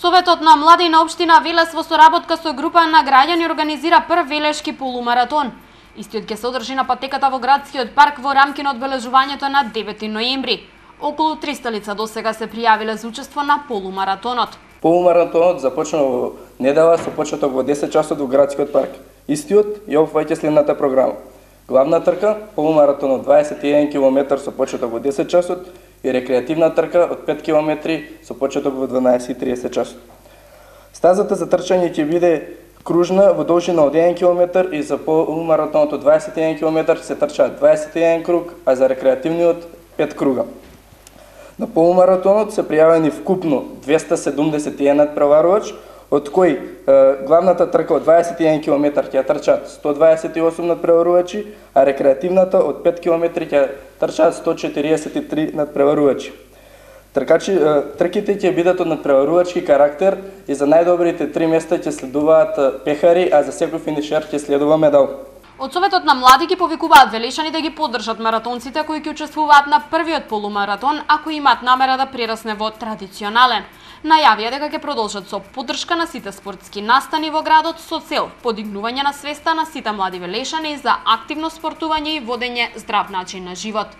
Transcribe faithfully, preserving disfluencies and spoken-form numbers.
Советот на млади на општина Велес во соработка со група на граѓани организира прв велешки полумаратон. Истиот ќе се одржи на патеката во градскиот парк во рамки на одбележувањето на девети ноември. Околу триста лица досега се пријавиле за учество на полумаратонот. Полумаратонот започна во недела со почеток во десет часот во градскиот парк. Истиот ја опфаќа следната програма: главна трка, полумаратон од дваесет и еден километри со почеток во десет часот и рекреативна трка од пет километри со почеток во дванаесет и тридесет часот. Стазата за трчање ќе биде кружна во должина од еден километар и за полумаратонот од дваесет и еден километри се трчаат дваесет и еден круг, а за рекреативниот пет круга. На полумаратонот се пријавени вкупно двеста седумдесет и еден надпреварувач, од кои е, главната трка од дваесет и еден километри ќе трчаат сто дваесет и осум надпреварувачи, а рекреативната од пет километри ќе трчаат сто четириесет и три надпреварувачи. Тркачи, е, трките ќе бидат од надпреварувачки карактер и за најдобрите три места ќе следуваат пехари, а за секој финишер ќе следува медал. Од Советот на млади ги повикуваат велешани да ги поддржат маратонците кои ќе учествуваат на првиот полумаратон, ако имаат намера да прерасне во традиционален. Најавија дека ќе продолжат со поддршка на сите спортски настани во градот со цел подигнување на свеста на сите млади велешани за активно спортување и водење здрав начин на живот.